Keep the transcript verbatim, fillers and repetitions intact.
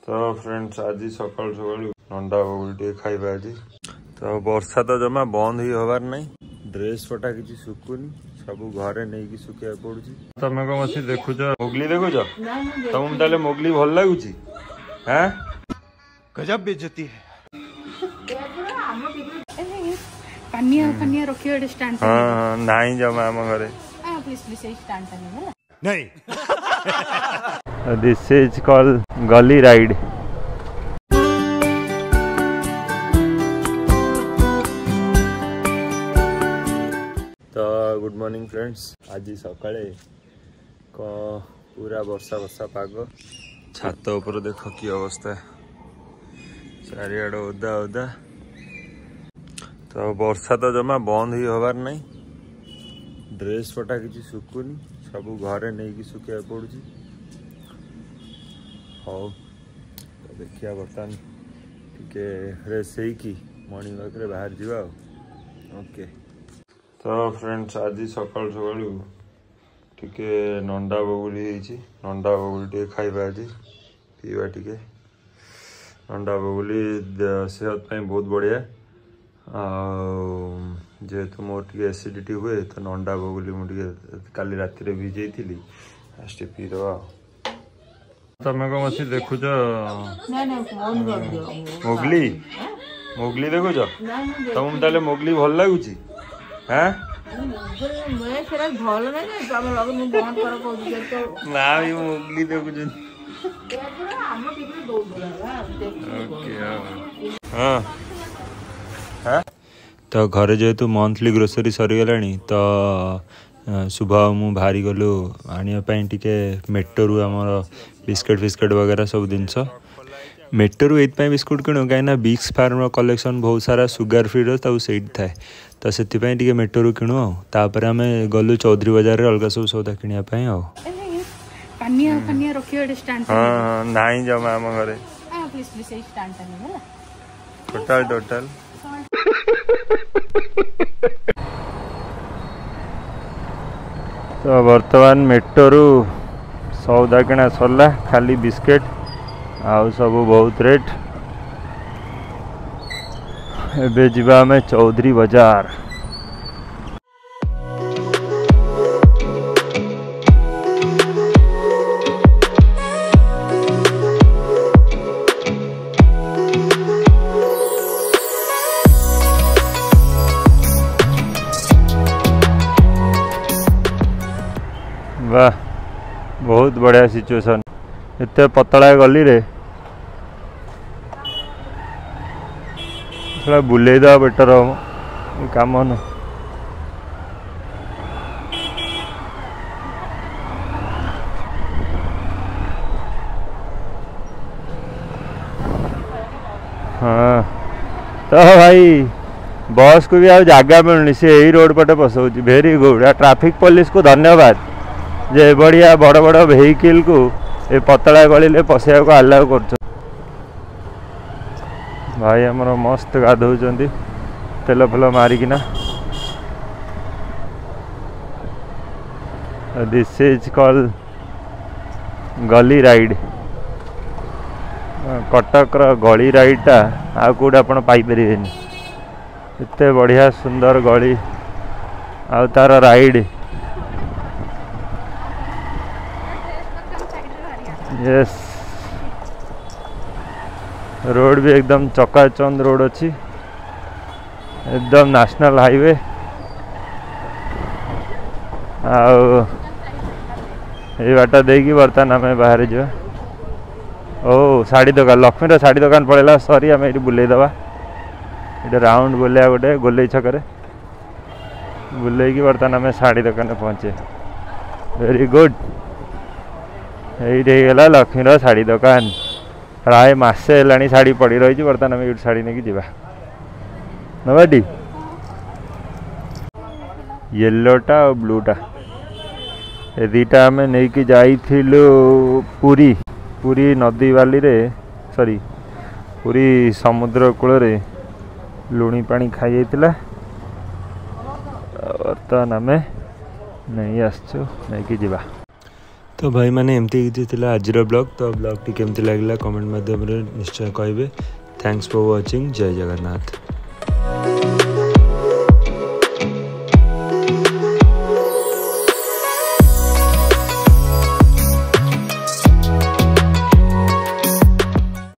ତ ଫ୍ରେଣ୍ଡସ୍, ଆଜି ସକାଳୁ ସକାଳୁ ନଣ୍ଡା ବଗୁଲି ଟିକେ ଖାଇବା ଆଜି। ତ ବର୍ଷା ତ ଜମା ବନ୍ଦ ହେଇ ହବାର ନାହିଁ, ଡ୍ରେସ୍ ପଟା କିଛି ଶୁକୁନି, ସବୁ ଘରେ ନେଇକି ଶୁଖେଇବାକୁ ପଡୁଛି। ତମେ କଣ ବସି ଦେଖୁଛ? ମୋଗଲି ଦେଖୁଛ? ତମକୁ ତାହେଲେ ମୋଗଲି ଭଲ ଲାଗୁଛି? ହାଁ, गजब बेइज्जती है। ପାନିଆ ଫାନିଆ ରଖିବା ଗୋଟେ ଷ୍ଟାଣ୍ଡ। ହଁ ହଁ, ନାହିଁ ଜମା ଆମ ଘରେ। ପ୍ଲିଜ ପ୍ଲିଜ, ସେଇ ଷ୍ଟାଣ୍ଡଟା ନେବେ ହେଲା। नहीं। This is called ଗଲି ରାଇଡ୍। ତ ଗୁଡ୍ ମର୍ଣ୍ଣିଂ ଫ୍ରେଣ୍ଡସ୍, ଆଜି ସକାଳେ କଣ ପୁରା ବର୍ଷା ବର୍ଷା ପାଗ। ଛାତ ଉପରେ ଦେଖ କି ଅବସ୍ଥା, ଚାରିଆଡ଼େ ଓଦା ଓଦା। ତ ବର୍ଷା ତ ଜମା ବନ୍ଦ ହେଇ ହବାର ନାହିଁ, ଡ୍ରେସ୍ ପଟା କିଛି ଶୁକୁନି, ସବୁ ଘରେ ନେଇକି ଶୁଖେଇବାକୁ ପଡୁଛି। ହଉ ତ ଦେଖିବା, ବର୍ତ୍ତମାନ ଟିକେ ଫ୍ରେଶ୍ ହେଇକି ମର୍ଣ୍ଣିଂ ୱାକ୍ରେ ବାହାରି ଯିବା ଆଉ। ଓକେ, ତ ଫ୍ରେଣ୍ଡସ୍, ଆଜି ସକାଳୁ ସକାଳୁ ଟିକେ ନଣ୍ଡା ବଗୁଲି ହେଇଛି। ନଣ୍ଡା ବଗୁଲି ଟିକେ ଖାଇବା ଆଜି, ପିଇବା ଟିକେ। ନଣ୍ଡା ବଗୁଲି ସେହତ ପାଇଁ ବହୁତ ବଢ଼ିଆ। ଆଉ ଯେହେତୁ ମୋର ଟିକେ ଏସିଡ଼ିଟି ହୁଏ, ତ ନଣ୍ଡା ବଗୁଲି ମୁଁ ଟିକେ କାଲି ରାତିରେ ଭିଜେଇଥିଲି, ଫାଷ୍ଟ ପିଇଦେବା। ଆଉ ତମେ କଣ ବସି ଦେଖୁଛ? ମୋଗଲି ମୋଗଲି ଦେଖୁଛ? ତମକୁ ତାହେଲେ ମୋଗଲି ଭଲ ଲାଗୁଛି? ହାଁ, ଭଲ ନାହିଁ। ମା ବି ମୋଗଲି ଦେଖୁଛନ୍ତି। ଓକେ, ହଁ। ତ ଘରେ ଯେହେତୁ ମନ୍ଥଲି ଗ୍ରୋସରୀ ସରିଗଲାଣି, ତ ଶୁଭ ଆଉ ମୁଁ ବାହାରି ଗଲୁ ଆଣିବା ପାଇଁ ଟିକେ ମେଟ୍ରୋରୁ ଆମର ବିସ୍କେଟ୍ ଫିସ୍କେଟ୍ ବଗେରା ସବୁ ଜିନିଷ। ମେଟ୍ରୋରୁ ଏଇଥିପାଇଁ ବିସ୍କୁଟ୍ କିଣୁ, କାହିଁକିନା ବିକ୍ସ ଫାର୍ମର କଲେକ୍ସନ୍ ବହୁତ ସାରା ସୁଗାର ଫ୍ରିର ତାକୁ ସେଇଠି ଥାଏ, ତ ସେଥିପାଇଁ ଟିକେ ମେଟ୍ରୋରୁ କିଣୁ। ଆଉ ତାପରେ ଆମେ ଗଲୁ ଚୌଧୁରୀ ବଜାରରେ ଅଲଗା ସବୁ ସଉଦା କିଣିବା ପାଇଁ। ଆଉ ପାନିଆ ଫାନିଆ ରଖିବା ଗୋଟେ ଷ୍ଟାଣ୍ଡ। ହଁ ହଁ, ନାହିଁ ଜମା ଆମ ଘରେ। ପ୍ଲିଜ ପ୍ଲିଜ, ସେଇ ଷ୍ଟାଣ୍ଡଟା ନେବେ ହେଲା। Total total. ତ ବର୍ତ୍ତମାନ ମେଟ୍ରୋରୁ ସଉଦା କିଣା ସରିଲା, ଖାଲି ବିସ୍କେଟ୍, ଆଉ ସବୁ ବହୁତ ରେଟ୍। ଏବେ ଯିବା ଆମେ ଚୌଧୁରୀ ବଜାର। ବାह, ବହୁତ ବଢ଼ିଆ ସିଚୁଏସନ୍। ଏତେ ପତଳା ଗଲିରେ ସେଟା ବୁଲେଇ ଦେବା ବେଟର ହବ, ଏ କାମ ନୁହଁ। ହଁ, ତ ଭାଇ ବସ୍କୁ ବି ଆଉ ଜାଗା ମିଳୁନି, ସେ ଏଇ ରୋଡ଼ ପଟେ ପଶଉଛି। ଭେରି ଗୁଡ୍, ଆଉ ଟ୍ରାଫିକ୍ ପୋଲିସକୁ ଧନ୍ୟବାଦ ଯେ ଏଭଳିଆ ବଡ଼ ବଡ଼ ଭେହିକିଲକୁ ଏ ପତଳା ଗଳିରେ ପଶିବାକୁ ଆଲାଉ କରୁଛନ୍ତି। ଭାଇ ଆମର ମସ୍ତ ଗାଧଉଛନ୍ତି ତେଲ ଫେଲ ମାରିକିନା। This is call ଗଲି ରାଇଡ୍। କଟକର ଗଳି ରାଇଡ୍ଟା ଆଉ କେଉଁଠି ଆପଣ ପାଇପାରିବେନି। ଏତେ ବଢ଼ିଆ ସୁନ୍ଦର ଗଳି ଆଉ ତାର ରାଇଡ୍। ୟେସ୍, ରୋଡ଼ ବି ଏକଦମ ଚକାଚନ୍ଦ ରୋଡ଼ ଅଛି, ଏକଦମ ନ୍ୟାସନାଲ ହାଇୱେ। ଆଉ ଏଇ ବାଟ ଦେଇକି ବର୍ତ୍ତମାନ ଆମେ ବାହାରି ଯିବା। ଓ ଶାଢ଼ୀ ଦୋକାନ, ଲକ୍ଷ୍ମୀର ଶାଢ଼ୀ ଦୋକାନ ପଳେଇଲା। ସରି, ଆମେ ଏଇଠି ବୁଲେଇ ଦେବା। ଏଇଠି ରାଉଣ୍ଡ ବୁଲେଇବା ଗୋଟେ ଗୋଲେଇ ଛକରେ ବୁଲେଇକି ବର୍ତ୍ତମାନ ଆମେ ଶାଢ଼ୀ ଦୋକାନରେ ପହଞ୍ଚିବା। ଭେରି ଗୁଡ୍, ଏଇଠି ହେଇଗଲା ଲକ୍ଷ୍ମୀର ଶାଢ଼ୀ ଦୋକାନ। ପ୍ରାୟ ମାସେ ହେଲାଣି ଶାଢ଼ୀ ପଡ଼ି ରହିଛି, ବର୍ତ୍ତମାନ ଆମେ ଏଇଠି ଶାଢ଼ୀ ନେଇକି ଯିବା। ନବାଟି ୟେଲୋଟା ଆଉ ବ୍ଲୁଟା, ଏ ଦୁଇଟା ଆମେ ନେଇକି ଯାଇଥିଲୁ ପୁରୀ। ପୁରୀ ନଦୀ ବାଲିରେ, ସରି, ପୁରୀ ସମୁଦ୍ର କୂଳରେ ଲୁଣି ପାଣି ଖାଇଯାଇଥିଲା। ବର୍ତ୍ତମାନ ଆମେ ନେଇ ଆସିଛୁ, ନେଇକି ଯିବା। ତ ଭାଇମାନେ, ଏମିତି କିଛି ଥିଲା ଆଜିର ବ୍ଲଗ୍। ତ ବ୍ଲଗ୍ଟି କେମିତି ଲାଗିଲା, କମେଣ୍ଟ ମାଧ୍ୟମରେ ନିଶ୍ଚୟ କହିବେ। Thanks for watching. Jay Jagannath.